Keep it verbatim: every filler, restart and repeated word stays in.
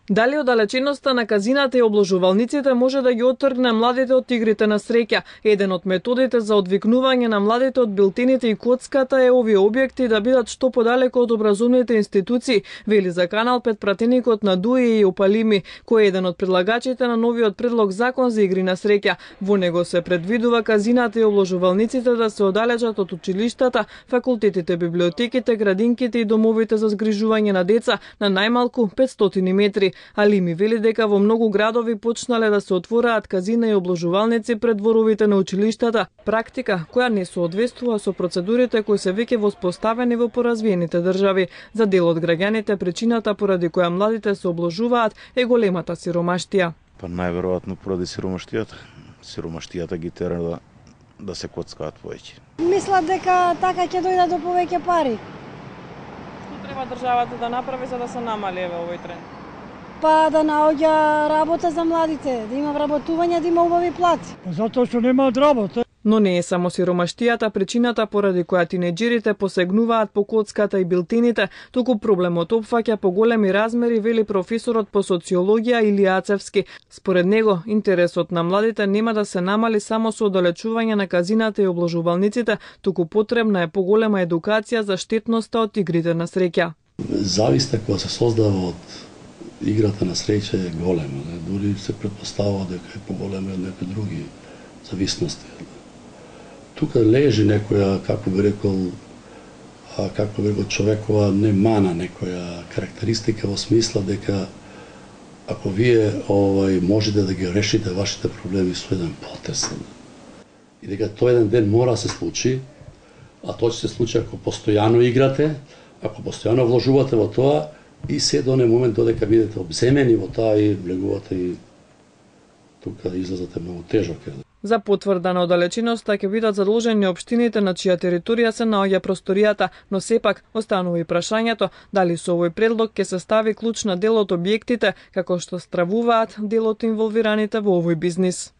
Дали оддалеченоста на казината и обложувалниците може да ги оттргне младите од игрите на среќа? Еден од методите за одвикнување на младите од билтените и коцката е овие објекти да бидат што подалеку од образовните институции, вели за Канал пет пратеникот на Дуи и Опалими, кој е еден од предлагачите на новиот предлог закон за игри на среќа. Во него се предвидува казината и обложувалниците да се оддалечат од училиштата, факултетите, библиотеките, градинките и домовите за згрижување на деца на најмалку петстотини метри. Алими вели дека во многу градови почнале да се отвораат казина и обложувалници пред дворовите на училиштата, практика која не соодветствува со процедурите кои се веќе воспоставени во поразвиените држави. За дел од граѓаните причината поради која младите се обложуваат е големата сиромаштија. Па најверојатно поради сиромаштијата. Сиромаштијата ги тера да, да се коцкаат повеќе. Мислат дека така ќе дојдат до повеќе пари. Што треба државата да направи за да се намали еве овој тренд? Па да наоѓа работа за младите, да има вработување, да има убави плати. Затоа што немаат работа. Но не е само сиромаштијата причината поради која тинеџерите посегнуваат по коцката и билтените, туку проблемот опфаќа поголеми размери, вели професорот по социологија Илија Ацевски. Според него, интересот на младите нема да се намали само со оддалечување на казината и обложувалниците, туку потребна е поголема едукација за штетноста од игрите на среќа. Зависта која се создава од играта на среќа е голема, не? Дури се претпоставува дека е поголема од некои други зависности. Тука лежи некоја, како би рекол, а, како би рекол човекова не мана, некоја карактеристика во смисла дека ако вие овај можете да ги решите вашите проблеми со еден потез и дека тој еден ден мора да се случи, а тоа ќе се случи ако постојано играте, ако постојано вложувате во тоа, и се до оној момент додека бидете обземени во таа и влегувате и тука излезате многу тежок. За потврда на оддалеченоста ќе бидат задолжени општините на чија територија се наоѓа просторијата, но сепак останува и прашањето дали со овој предлог ќе се стави клучна дел од објектите, како што стравуваат дел од инволвираните во овој бизнис.